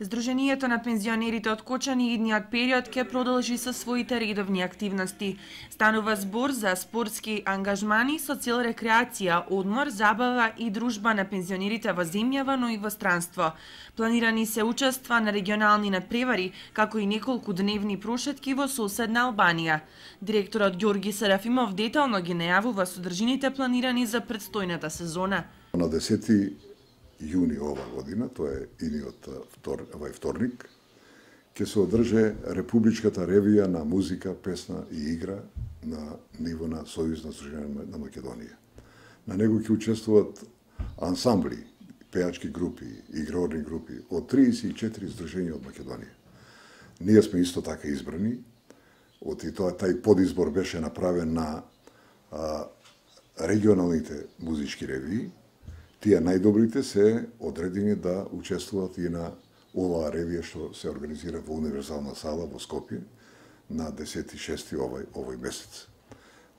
Сдруженијето на пензионерите од Кочани идниот период ќе продолжи со своите редовни активности. Станува збор за спортски ангажмани со цел рекреација, одмор, забава и дружба на пензионерите во земјава, но и во странство. Планирани се учества на регионални надпревари, како и неколку дневни прошетки во соседна Албанија. Директорот Ѓорги Серафимов детално ги најавува содржините планирани за предстојната сезона. На 10 јуни ова година, тоа е идниот вторник, ќе се одржи Републичката ревија на музика, песна и игра на ниво на Сојузно сдружение на Македонија. На него ќе учествуваат ансамбли, пејачки групи, игрорни групи од 34 здруженија од Македонија. Ние сме исто така избрани, тај подизбор беше направен на регионалните музички ревии. Тие најдобрите се одредени да учествуваат и на оваа ревија што се организира во Универзална сала во Скопје на 10.6. овој месец.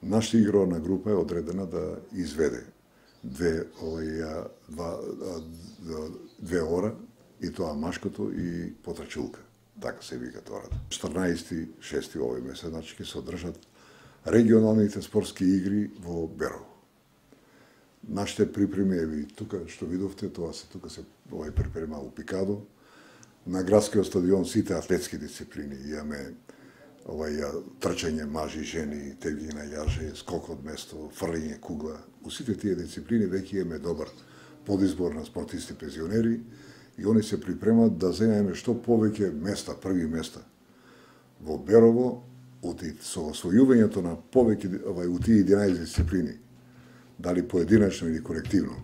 Нашата игрорна група е одредена да изведе две ора, и тоа машкото и потрачулка, така се вика тоа. 14.6. овој месец, значи ќе се одржат регионалните спортски игри во Берово. Нашите припреми, еви тука што видовте, тоа се тука се припрема у Пикадо. На градскиот стадион сите атлетски дисциплини, имаме трчање мажи, жени, тегли на јаже, скок од место, фрлење кугла. У сите тие дисциплини веќе имаме добар подизбор на спортисти пензионери и они се припремат да земеме што повеќе места, први места во Берово, со освојувањето на повеќе у тие 11 дисциплини, дали поединачно или колективно.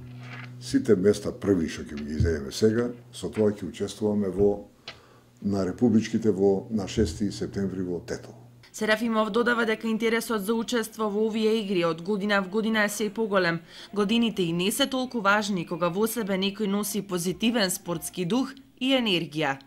Сите места први што ќе ги земеме сега, со тоа ќе учествуваме на републичките на 6 септември во Тетово. Серафимов додава дека интересот за учество во овие игри од година в година е сѐ поголем. Годините и не се толку важни кога во себе некој носи позитивен спортски дух и енергија.